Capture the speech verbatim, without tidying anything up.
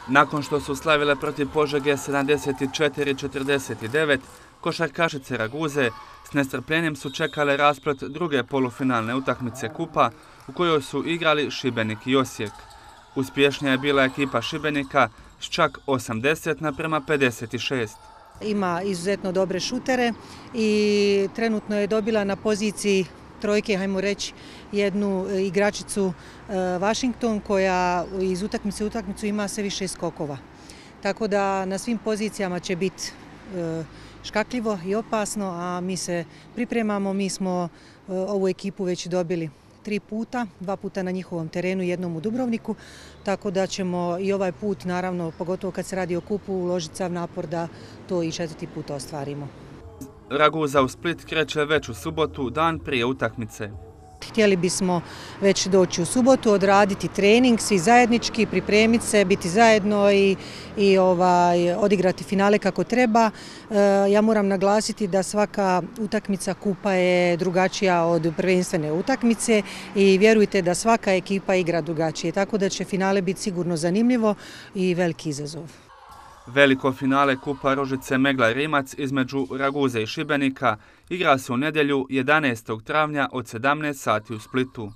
Nakon što su slavile protiv Požege sedamdeset četiri četrdeset devet, košarkašice Raguze s nestrpljenjem su čekale rasplet druge polufinalne utakmice kupa u kojoj su igrali Šibenik i Osijek. Uspješnija je bila ekipa Šibenika s čak osamdeset naprema pedeset šest. Ima izuzetno dobre šutere i trenutno je dobila na poziciji trojke, hajmo reći, jednu igračicu Washington koja iz utakmice u utakmicu ima sve više skokova. Tako da na svim pozicijama će biti škakljivo i opasno, a mi se pripremamo, mi smo ovu ekipu već dobili tri puta, dva puta na njihovom terenu, jednom u Dubrovniku, tako da ćemo i ovaj put, naravno, pogotovo kad se radi o kupu, uložiti sav napor da to i četvrti put ostvarimo. Raguza u Split kreće već u subotu, dan prije utakmice. Htjeli bismo već doći u subotu, odraditi trening, svi zajednički, pripremiti se, biti zajedno i, i ovaj, odigrati finale kako treba. E, ja moram naglasiti da svaka utakmica kupa je drugačija od prvenstvene utakmice i vjerujte da svaka ekipa igra drugačije, tako da će finale biti sigurno zanimljivo i veliki izazov. Veliko finale kupa Ružice Megla Rimac između Raguze i Šibenika igra se u nedjelju jedanaestog travnja od sedamnaest sati u Splitu.